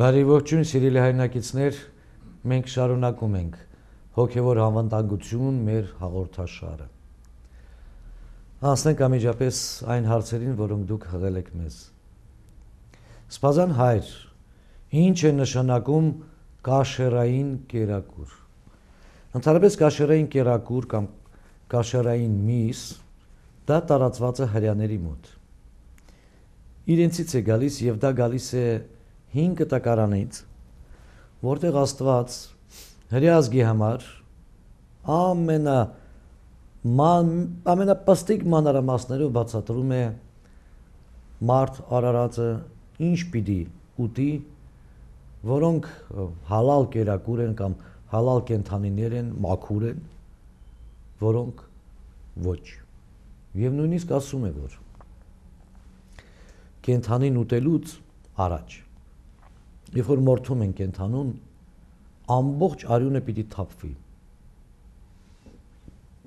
Բարի ողջույն, սիրելի հայրենակիցներ, մենք շարունակում ենք հոգևոր անվտանգություն մեր հաղորդաշարը։ Անցնենք անմիջապես այն հարցերին, որոնք դուք հղել եք մեզ։ Սպասան հայր, ինչ է նշանակում կաշերային կերակուր։ Ընդհանրապես կաշերային կերակուր կամ կաշերային միս դա տարածված է հրեաների մոտ։ Իրենցից է գալիս եւ դա գալիս է 5 կտակարանից, որտեղ Աստված հրեազգի համար ամենապստիկ մանրամասներով բացատրում է մարդ արարածը ինչ պիտի ուտի, որոնք հալալ կերակուր են կամ հալալ կենդանիներ են, մաքուր են, որոնք ոչ։ Եվ նույնիսկ ասում է, որ կենդանին ուտելուց առաջ, երբ որ մորթում են կենդանուն, ամբողջ արյունը պիտի թափվի։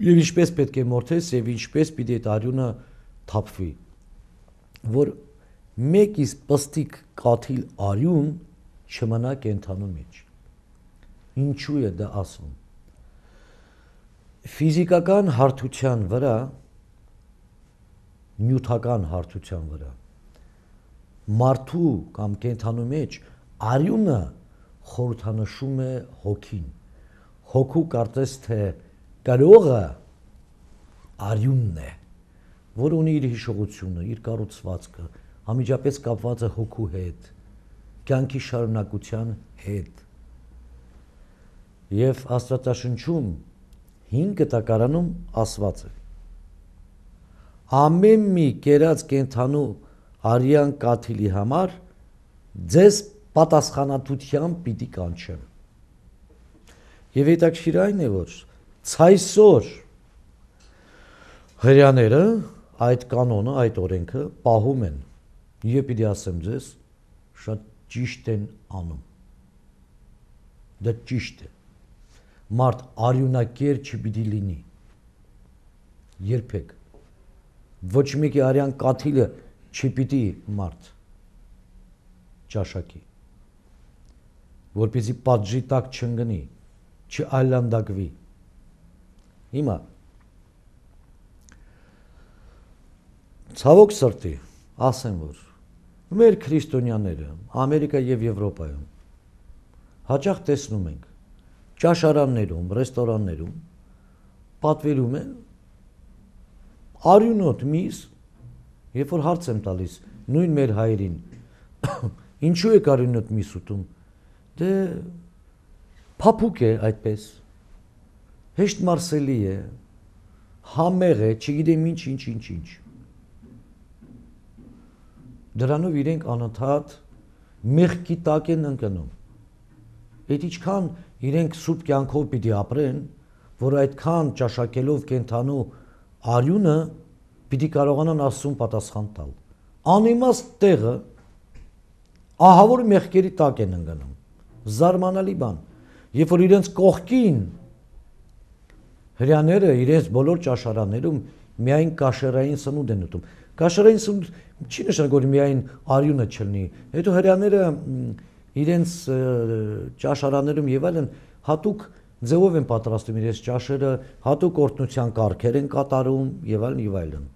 Եվ ինչպես պետք է մորթես եւ ինչպես պիտի այդ արյունը թափվի, որ մեկ իսկ պստիկ կաթիլ արյուն չմնա կենդանու մեջ։ Ինչու է դա ասում։ Ֆիզիկական հարթության վրա, նյութական հարթության վրա, մարդու կամ կենդանու մեջ արյունը խորհրդանշում է հոգին։ Հոգու կարծես թե կրողը արյունն է, որ ունի իր հիշողությունը, իր կառուցվածքը, անմիջապես կապված է հոգու հետ, կյանքի շարունակության հետ։ Եվ Աստվածաշնչում 5 կտակարանում ասված է. ամեն մի կերած կենդանու արյան կաթիլի համար ձեզ պատասխանատվությամբ պիտի կանչեմ։ Եվ հետաքրքիր այն է, որ ցայսօր հրեաները այդ կանոնը, այդ օրենքը պահում են։ Եվ պիտի ասեմ ձեզ, շատ ճիշտ են անում։ Դա ճիշտ է։ Մարդ արյունակեր չպիտի լինի։ Երբեք։ Ոչ մեկի արյան կաթիլը չպիտի մարդ ճաշակի, որպեսզի պատժի տակ չընկնի, չայլանդակվի։ Հիմա ցավոք սրտի ասեմ, որ մեր քրիստոնյաները Ամերիկա եւ Եվրոպայում հաճախ տեսնում ենք ճաշարաններում, ռեստորաններում պատվիրում են արյունոտ միս, երբ որ հարց եմ տալիս նույն մեր հայրին, ինչու է արյունոտ միս ուտում, դե փափուկ է այդպես, հեշտ մարսելի է, համեղ է, չգիտեմ ինչ։ Դրանով իրենք անընդհատ մեղքի տակ են ընկնում։ Այդ ինչքան իրենք սուրբ կյանքով պիտի ապրեն, որ այդքան ճաշակելով կենդանու արյունը պիտի կարողանան Աստծուն պատասխան տալ։ Անիմաստ տեղը ահավոր մեղքերի տակ են ընկնում։ Զարմանալի բան։ Երբ որ իրենց կողքին հրեաները իրենց բոլոր ճաշարաններում միայն կաշերային սնունդ են ուտում։ Կաշերային սնունդ չի նշանակում, որ միայն արյունը չլինի։ Հետո հրեաները իրենց ճաշարաններում եւ այլն հատուկ ձևով են պատրաստում իրենց ճաշերը, հատուկ օրհնության կարգեր են կատարում եւ այլն։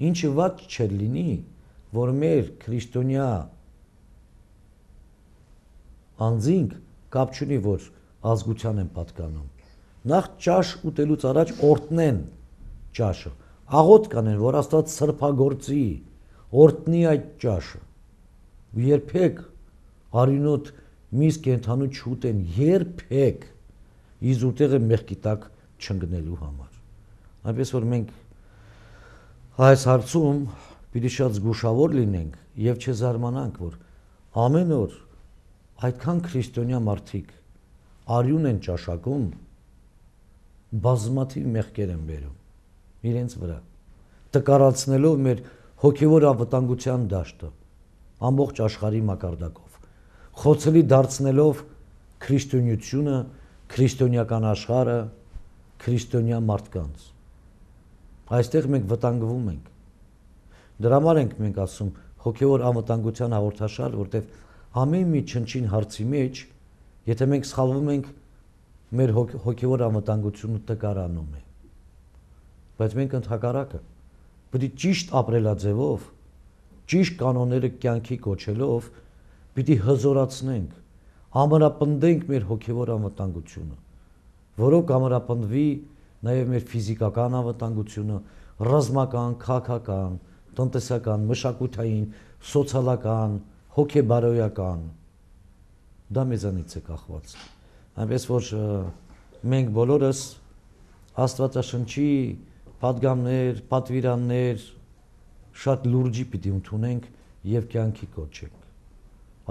Ինչը ված չէր լինի, որ մեր քրիստոնյա անձինք կապ չունի, որ ազգության են պատկանում։ Նախ ճաշ ուտելուց առաջ օրհնեն ճաշը, աղոթ կանեն, որ Աստված սրբագործի, օրհնի այդ ճաշը։ Երբեք արյունոտ միս կենդանու չուտեն, երբեք իզուտեղը մեղքի տակ չընկնելու համար։ Այնպես որ մենք այս հարցում պիտի շատ զգուշավոր լինենք եւ չզարմանանք, որ ամեն օր այդքան քրիստոնյա մարդիկ արյուն են ճաշակում, բազմաթիվ մեղքեր են բերում իրենց վրա, տկարացնելով մեր հոգևոր անվտանգության դաշտը ամբողջ աշխարհի մակարդակով, խոցելի դարձնելով քրիստոնեությունը, քրիստոնեական աշխարհը, քրիստոնյա մարդկանց։ Այստեղ մենք վտանգվում ենք։ Դրա համար ենք մենք ասում հոգևոր անվտանգության հաղորդաշար, որտեղ Համեն մի չնչին հարցի մեջ, եթե մենք սխալվում ենք, մեր հոգևոր անվտանգությունը տկարանում է։ Բայց մենք ընդհակառակը պետք է ճիշտ ապրելաձևով, ճիշտ կանոնները կյանքի կոչելով, պիտի հզորացնենք, ամրապնդենք մեր հոգևոր անվտանգությունը, որով կամրապնդվի նաև մեր ֆիզիկական անվտանգությունը, ռազմական, քաղաքական, տնտեսական, մշակութային, սոցիալական, հոգեբարոյական, դա մեզանից է կախված։ Այնպես որ մենք բոլորս Աստվածաշնչի պատգամներ, պատվիրաններ շատ լուրջի պիտի ընդունենք եւ կյանքի կոչենք։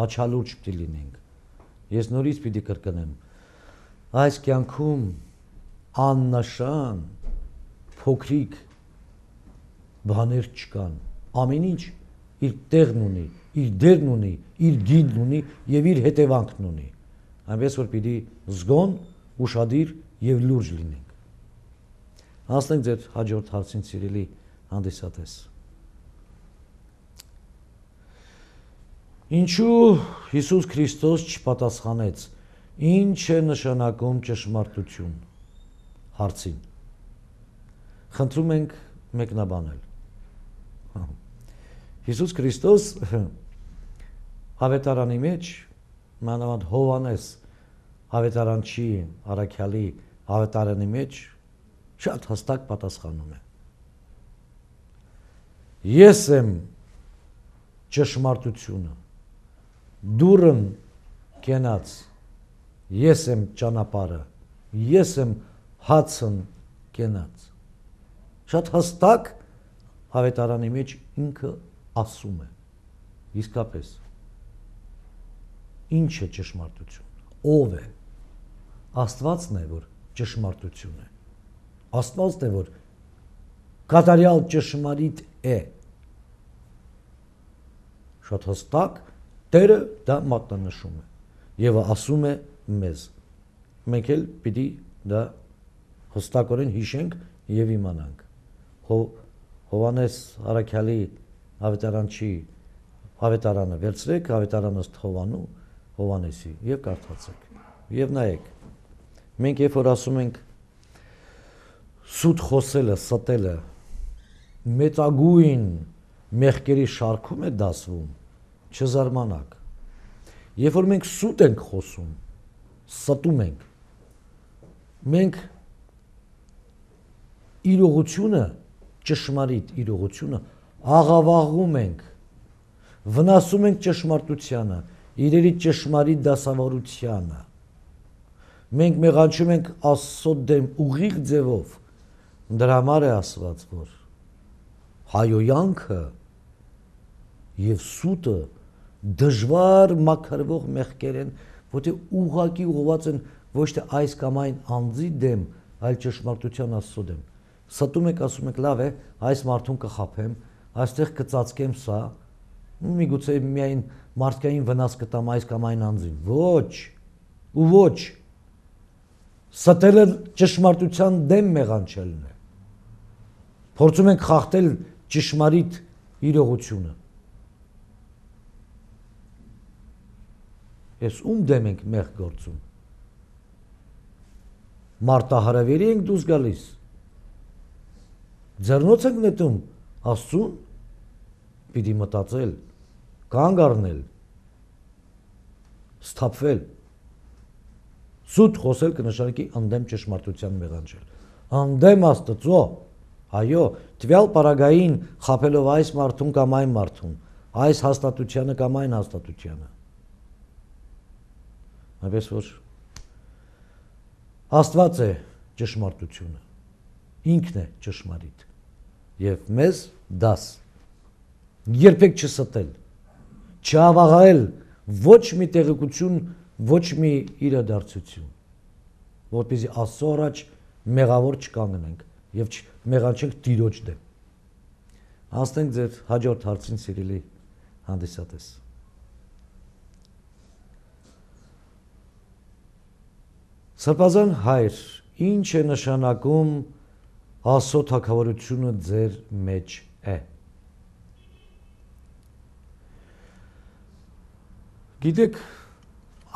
Աչալուրջ պիտի լինենք։ Ես նորից պիտի կրկնեմ, այս կյանքում աննշան փոքրիկ բաներ չկան։ Ամեն ինչ իր տեղն ունի, իր դերն ունի, իր գինն ունի եւ իր հետևանքն ունի։ Այնպես որ պիտի զգոն, ուշադիր եւ լուրջ լինենք։ Հասնենք ձեր հաջորդ հարցին, սիրելի հանդիսատես։ Ինչու Հիսուս Քրիստոս չպատասխանեց, ինչ է նշանակում ճշմարտություն հարցին։ Խնդրում ենք մեկնաբանել։ Հիսուս Քրիստոս ավետարանի մեջ, մանավանդ Հովհաննես ավետարանչի առաքյալի ավետարանի մեջ շատ հստակ պատասխանում է։ Ես եմ ճշմարտությունը, դուրն կենաց, ես եմ ճանապարհը, ես եմ հացն կենաց։ Շատ հստակ ավետարանի մեջ ինքը ասում է, իսկապես, ինչ է ճշմարտություն, ով է, Աստվածն է, որ ճշմարտություն է, Աստվածն է, որ կատարյալ ճշմարիտ է, շատ հստակ, Տերը դա մատնանշում է, և ասում է մեզ, մենք էլ պիտի դա հստակորեն հիշենք և իմանանք, Հովհաննես առաքյալի ավետարանչի ավետարանը վերցրեք, ավետարանը ըստ Հովհաննեսի և կարդացեք, և նայեք, մենք երբ որ ասում ենք սուտ խոսելը, ստելը, մեծագույն մեղքերի շարքում է դասվում, չզարմանաք, երբ որ մենք սուտ ենք խոսում, ստում ենք, մենք իրողությունը, ճշմարիտ իրողությունը աղավաղում ենք, վնասում ենք ճշմարտությանը, իրերի ճշմարիտ դասավորությանը, մենք մեղանչում ենք Աստծո դեմ ուղիղ ձևով, դրա համար է ասված, որ հայոյանքը և սուտը դժվար մաքրվող մեղքեր են, որտեղ ուղղակի ուղղված են ոչ թե այս կամ այն անձի դեմ, այլ ճշմարտության Աստծո դեմ։ Ստում եք, ասում եք, լավ է, այս մարդուն կխաբեմ, այստեղ կծածկեմ սա, միգուցե միայն մարդկային վնաս կտամ այս կամ այն անձին։ Ոչ, ու ոչ։ Ստելը ճշմարտության դեմ մեղանչելն է։ Փորձում ենք խախտել ճշմարիտ իրողությունը։ Ես ում դեմ ենք մեղք գործում։ Մարտահրավերի ենք դուրս գալիս։ Ձեռնոց ենք նետում Աստծուն, պիտի մտածել, կանգ առնել, սթափվել։ Սուտ խոսել կնշանակի ընդդեմ ճշմարտության մեղանչել։ Ընդդեմ Աստծո, այո, տվյալ պարագային խաբելով այս մարդուն կամ այն մարդուն, այս հաստատությանը կամ այն հաստատությանը։ Այնպես որ Աստված է ճշմարտությունը, ինքն է ճշմարիտ և մեզ դաս, երբեք չստել, չավաղել ոչ մի տեղեկություն, ոչ մի իրադարձություն, որպեսզի Աստծո առաջ մեղավոր չկանգնենք և մեղանչենք Տիրոջ դեմ։ Հասնենք ձեր հաջորդ հարցին, սիրելի հանդիսատես։ Սրբազան հայր, ինչ է նշանակում Աստծո թագավորությունը ձեր մեջ է։ Գիտեք,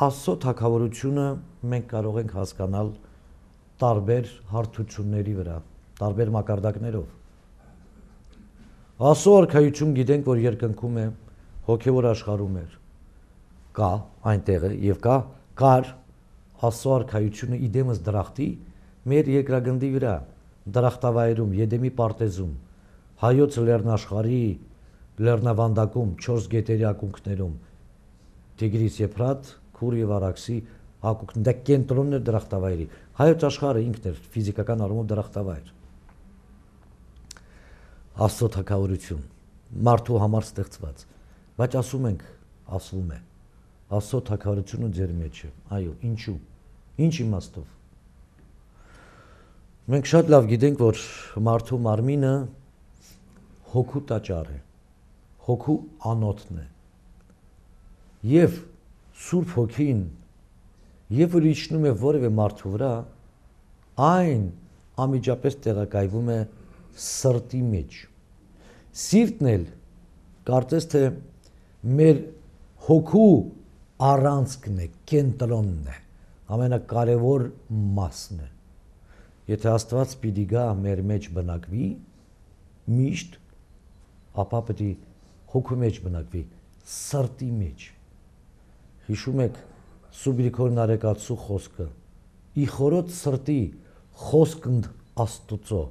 Աստծո թագավորությունը մենք կարող ենք հասկանալ տարբեր հարթությունների վրա, տարբեր մակարդակներով։ Աստծո արքայություն գիտենք, որ երկնքում է, հոգևոր աշխարհում է, կա այնտեղ է եւ կար Աստծո արքայությունը իդեմս դրախտի մեր երկրագնդի վրա, դրախտավայրում, Եդեմի պարտեզում, հայոց լեռնաշխարհի լեռնավանդակում, 4 գետերի ակունքներում, Տիգրիս, Եփրատ, Քուր եւ Արաքսի ակունքն դա կենտրոնն է դրախտավայրի։ Հայոց աշխարհը ինքն է ֆիզիկական առումով դրախտավայր։ Աստծո թագավորություն, մարդու համար ստեղծված, բայց ասվում է, Աստծո թագավորությունը ձեր մեջ է։ Այո, ինչու։ Ինչ իմաստով։ Մենք շատ լավ գիտենք, որ մարդու մարմինը հոգու տաճար է, հոգու անոթն է։ Եվ Սուրբ Հոգին, երբ որ իջնում է որևէ մարդու վրա, այն անմիջապես տեղակայվում է սրտի մեջ։ Սիրտն էլ կարծես թե մեր հոգու առանցքն է, կենտրոնն է, ամենակարևոր մասն է։ Եթե Աստված պիտի գա մեր մեջ բնակվի, միշտ, ապա պետք է հոգու մեջ բնակվի, սրտի մեջ։ Հիշում եք Սուբրիքոր Նարեկացու խոսքը. «Ի խորոց սրտի խոսքն Աստուծո»,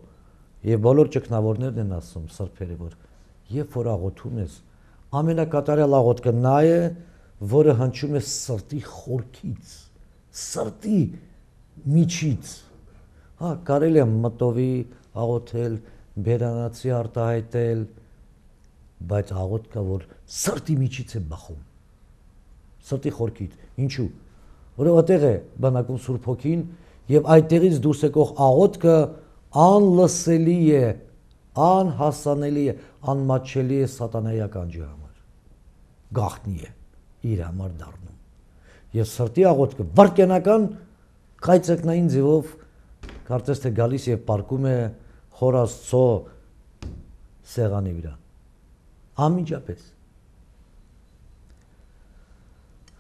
եւ բոլոր ճգնավորներն են ասում սրբերը, որ երբ որ աղոթում ես, ամենակատարյալ աղոթքը նա է, որը հնչում է սրտի խորքից, սրտի միջից։ Կարելի է մտովի աղոթել, բերանացի արտահայտել, բայց աղոթքը, որ սրտի միջից է բխում, սրտի խորքից։ Ինչու։ Որովհետև է բնակում Սուրբ Հոգին եւ այդտեղից դուրս եկող աղոթքը անլսելի է, անհասանելի է, անմատչելի է սատանայի ականջի համար, գաղտնի է իր համար դառնում։ Եվ սրտի աղոթքը վարքյանական կայծակնային ձևով կարծես թե գալիս եւ պարկում է Խոր Աստծո սեղանի վրա, անմիջապես։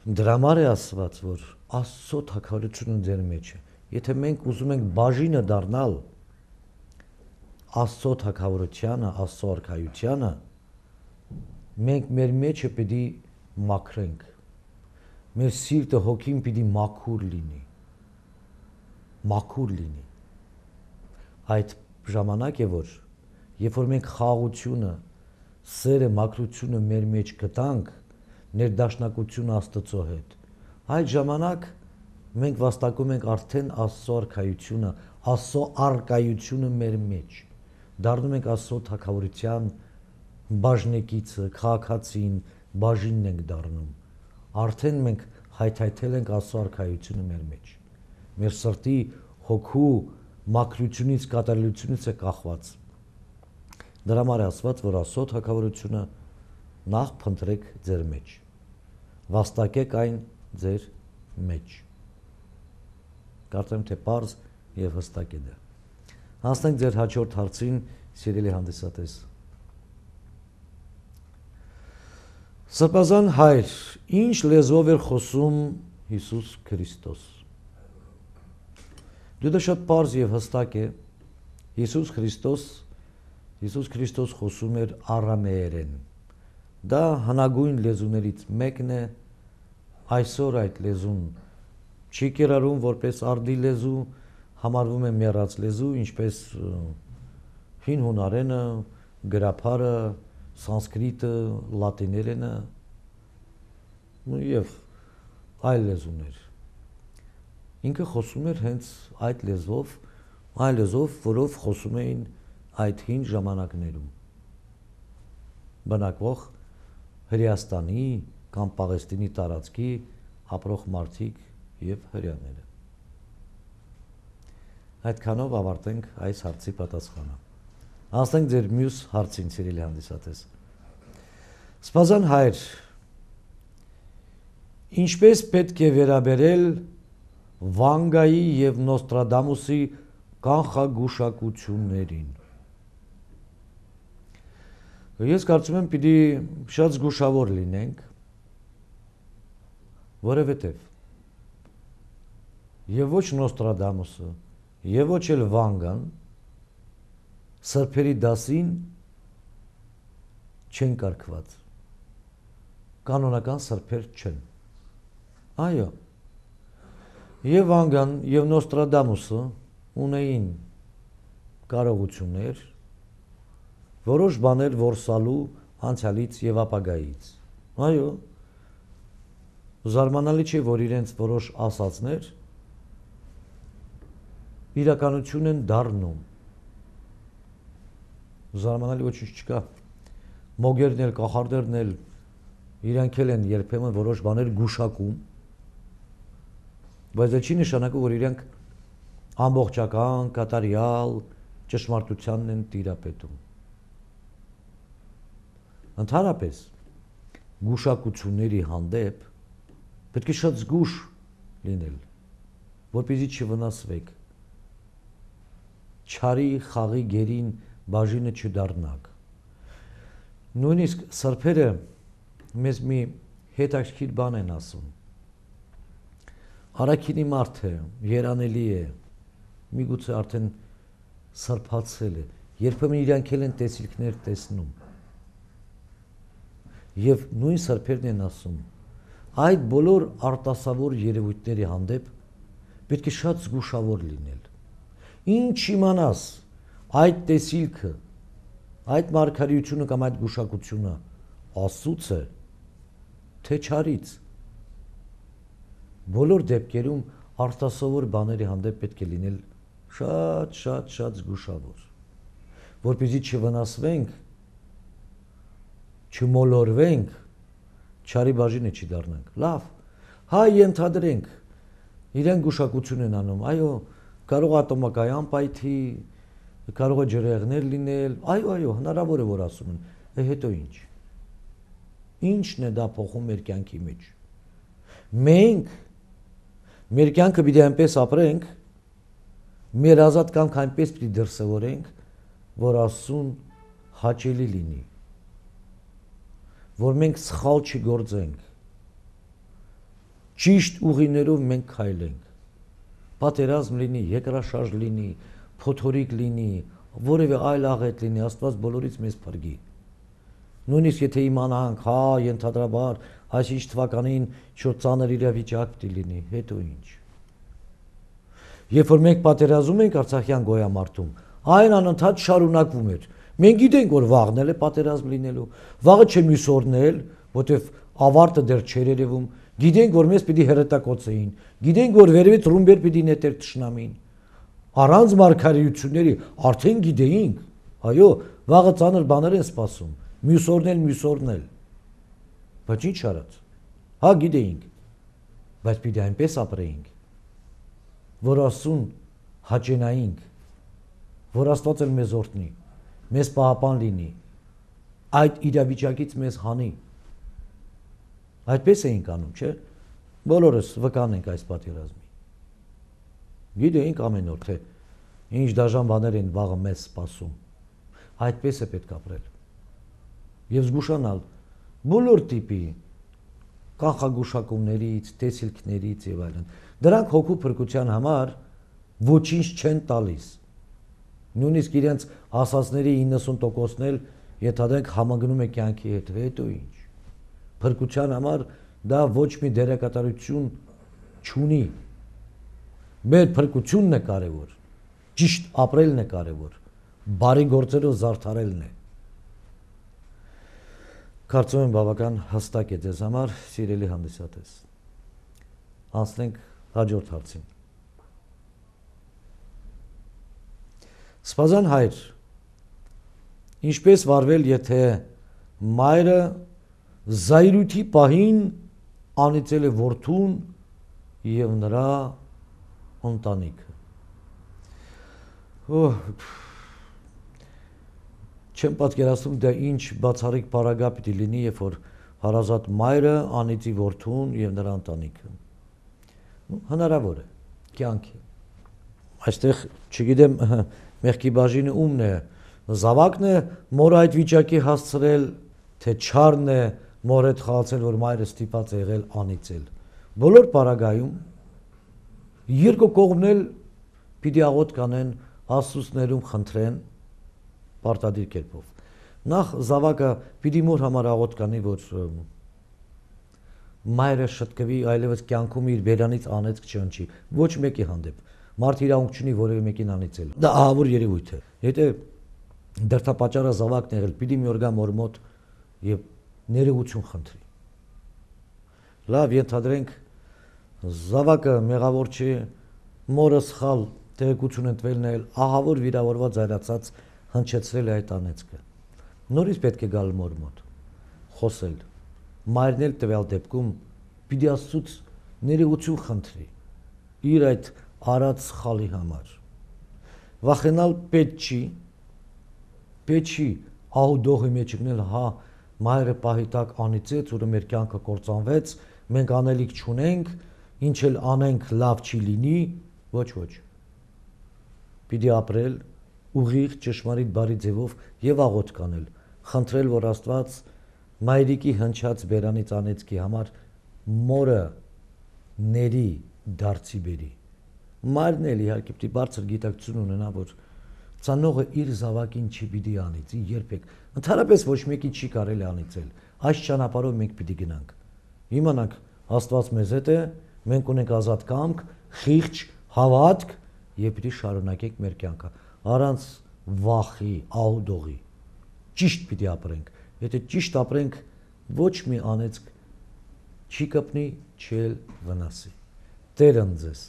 Դրա համար է ասված, որ Աստծո թագավորությունը ձեր մեջ է։ Եթե մենք ուզում ենք բաժինը դառնալ Աստծո թագավորությանը, Աստծո արքայությանը, մենք մեր մեջը պիտի մաքրենք, մեր սիրտը, հոգին պիտի մաքուր լինի։ Այդ ժամանակ է, որ երբ որ մենք խաղաղությունը, սերը, մաքրությունը մեր մեջ գտանք, ներդաշնակությունը Աստծո հետ, այդ ժամանակ մենք վաստակում ենք արդեն Աստծո արքայությունը, Աստծո արկայությունը մեր մեջ, դառնում ենք Աստծո թագավորության բաժնեկիցը, քաղաքացին, բաժինն ենք դառնում, արդեն մենք հայթայթել ենք Աստծո արքայությունը մեր մեջ, մեր սրտի հոգու մաքրությունից, կատարելությունից է կախված։ Դրա համար է ասված, որ Աստծո թագավորությունը նախ փնտրեք ձեր մեջ, վաստակեք այն ձեր մեջ։ Կարծեմ թե պարզ եւ հստակ է դա։ Հասնենք ձեր հաջորդ հարցին, սիրելի հանդիսատես։ Սրբազան հայր, ինչ լեզվով էր խոսում Հիսուս Քրիստոս։ Դա շատ պարզ եւ հստակ է։ Հիսուս Քրիստոս խոսում էր արամեերեն։ Դա հնագույն լեզուներից մեկն է, այսօր այդ լեզուն չի կիրառում որպես արդի լեզու, համարվում է մեռած լեզու, ինչպես հին հունարենը, գրաբարը, սանսկրիտը, լատիներենը եւ այլ լեզուներ։ Ինքը խոսում էր հենց այդ լեզվով, այլ լեզվով, որով խոսում էին այդ հին ժամանակներում բնակվող Հրեաստանի կամ Պաղեստինի տարածքի ապրող մարդիկ եւ հրեաները։ Այդքանով ավարտենք այս հարցի պատասխանը։ Հասնենք ձեր մյուս հարցին, սիրելի հանդիսատես։ Սպասան հայր, ինչպես պետք է վերաբերել Վանգայի եւ Նոստրադամուսի կանխագուշակություններին։ Ես կարծում եմ, պիտի շատ զգուշավոր լինենք, որովհետև եւ ոչ Նոստրադամուսը, եւ ոչ էլ Վանգան սրբերի դասին չեն կարգված, կանոնական սրբեր չեն, այո, եւ Վանգան եւ Նոստրադամուսը ունեին կարողություններ, որոշ բաներ որսալու անցյալից եւ ապագայից, այո, զարմանալի չէ, որ իրենց որոշ ասածներ իրականություն են դառնում, զարմանալի ոչինչ չկա, մոգերն էլ, կախարդերն էլ իրանք էլ են երբեմն որոշ բաներ գուշակում, բայց դա չի նշանակում, որ իրանք ամբողջական, կատարյալ ճշմարտությանն են տիրապետում։ Ընդհանրապես գուշակությունների հանդեպ պետք է շատ զգուշ լինել, որպեսզի չվնասվեք, չարի խաղի գերին բաժինը չդառնաք։ Նույնիսկ սրբերը մեզ մի հետաքրքիր բան են ասում։ Առաքինի մարդ է, երանելի է, միգուցե արդեն սրբացել է, երբեմն իրանք էլ են տեսիլքներ տեսնում։ Եվ նույն սրբերն են ասում, այդ բոլոր արտասավոր երևույթների հանդեպ պետք է շատ զգուշավոր լինել։ Ինչ իմանաս այդ տեսիլքը, այդ մարգարեությունը կամ այդ գուշակությունը Աստծուց է, թե չարից։ Բոլոր դեպքերում արտասովոր բաների հանդեպ պետք է լինել շատ զգուշավոր, որպեսզի չվնասվենք, չմոլորվենք, չարի բաժինը չի դառնանք։ Լավ, հայ ենթադրենք, իրենք գուշակություն են անում, այո, կարող է ատոմակայան պայթի, կարող է ջրեղներ լինել, այո, հնարավոր է, որ ասում են, հետո ինչ։ Ինչն է դա փոխում մեր կյանքի մեջ։ Մենք մեր կյանքը պիտի այնպես ապրենք, մեր ազատ կյանքը այնպես պիտի դրսևորենք, որ Աստծուն հաճելի լինի, որ մենք սխալ չգործենք, ճիշտ ուղիներով մենք քայլենք, պատերազմ լինի, երկրաշարժ լինի, փոթորիկ լինի, որևէ այլ աղետ լինի, Աստված բոլորից մեզ փրկի։ Նույնիսկ եթե իմանանք, ենթադրաբար, այսինչ թվականին շատ ծանր իրավիճակ պիտի լինի, հետո ինչ։ Երբ որ մենք պատերազում ենք Արցախյան գոյամարտում, այն անընդհատ շարունակվում էր։ Մենք գիտենք, որ վաղն է պատերազմ լինելու, վաղը չէ մյուս օրն էլ, որտեվ ավարտը դեռ չէր երևում, գիտենք, որ մեզ պիտի հրետակոծեին, գիտենք, որ վերևից ռումբեր պիտի նետեր թշնամին։ Առանց մարգարեությունների արդեն գիտեինք, այո, վաղը ծանր բաներ են սպասում, մյուս օրն էլ, բայց ինչ արած, գիտեինք, բայց պիտի այնպես ապրեինք, որ Աստծուն հաճենայինք, որ Աստված էլ մեզ օրհնի, մեզ պահապան լինի, այդ իրավիճակից մեզ հանի։ Այդպես էինք անում, չէ՞։ Բոլորս վկան ենք այս պատերազմի։ Գիտեինք ամեն օր, թե ինչ դաժան բաներ են վաղը մեզ սպասում։ Այդպես է պետք ապրել։ Եվ զգուշանալ բոլոր տիպի կանխագուշակումներից, տեսիլքներից եւ այլն։ Դրանք հոգու փրկության համար ոչինչ չեն տալիս։ Նույնիսկ իրենց ասածների 90%-ն էլ ենթադրենք համագնում է կյանքի հետ, հետո ինչ։ Փրկության համար դա ոչ մի դերակատարություն չունի։ Մեր փրկությունն է կարևոր, ճիշտ ապրելն է կարևոր, բարի գործերով զարդարելն է։ Կարծում եմ բավական հստակ է ձեզ համար, սիրելի հանդիսատես։ Անցնենք հաջորդ հարցին։ Սպազան հայր, ինչպես վարվել, եթե մայրը զայրույթի պահին անիծել է որդուն եւ նրա ընտանիքը։ Չեմ պատկերացնում դա ինչ բացառիկ պարագա պիտի լինի, երբ որ հարազատ մայրը անիծի որդուն եւ նրա ընտանիքը։ Հնարավոր է, կյանք է։ Այստեղ չգիտեմ մեղքի բաժինը ումն է, զավակն է մորը այդ վիճակի հասցրել, թե չարն է մոր հետ խաղացել, որ մայրը ստիպած է եղել անիծել։ Բոլոր պարագայում երկու կողմն էլ պիտի աղոտ կանեն, Աստծուներում խնդրեն պարտադիր կերպով։ Նախ զավակը պիտի մոր համար աղոտ կանի, որ մայրը շտկվի, այլևս կյանքում իր բերանից անեծք չընչի, ոչ մեկի հանդեպ։ Մարդ իրավունք չունի որևէ մեկին անիծել։ Դա ահավոր երևույթ է։ Եթե դրդապատճառը զավակն եղել, պիտի մի օր գա մոր մոտ եւ ներողություն խնդրի։ Լավ, ենթադրենք զավակը մեղավոր չի, մորը սխալ տեղեկություն ընտրելն էլ ահավոր վիրավորված զայրացած հնչեցրել է այդ անեծքը։ Նորից պետք է գալ մոր մոտ, խոսել։ Մայրն էլ տվյալ դեպքում պիտի Աստծուց ներողություն խնդրի իր այդ արած սխալի համար։ Վախենալ պետք չի ահուդողի մեջ գնել, հա, մայրը պահի տակ անիծեց, ուրը մեր կյանքը կործանվեց, մենք անելիք չունենք, ինչ էլ անենք լավ չի լինի, ոչ։ Պիտի ապրել ուղիղ ճշմարիտ բարի ձևով եւ աղոտ կանել, խնդրել, որ Աստված մայրիկի հնչած բերանից անեծքի համար մորը ների դարձի բերի։ Մայրն էլ իհարկե պիտի բարձր գիտակցություն ունենա, որ ծանողը իր զավակին չի պիտի անիծի երբեք, ընդհանրապես ոչ մեկին չի կարելի անիծել։ Այս ճանապարհով մենք պիտի գնանք։ Իմանանք Աստված մեզ հետ է, մենք ունենք ազատ կամք, խիղճ հավատք եւ պիտի շարունակենք մեր կյանքը առանց վախի, ահուդողի։ Ճիշտ պիտի ապրենք։ Եթե ճիշտ ապրենք, ոչ մի անեծք չի կպնի, չի էլ վնասի։ Տեր ընդ ձեզ։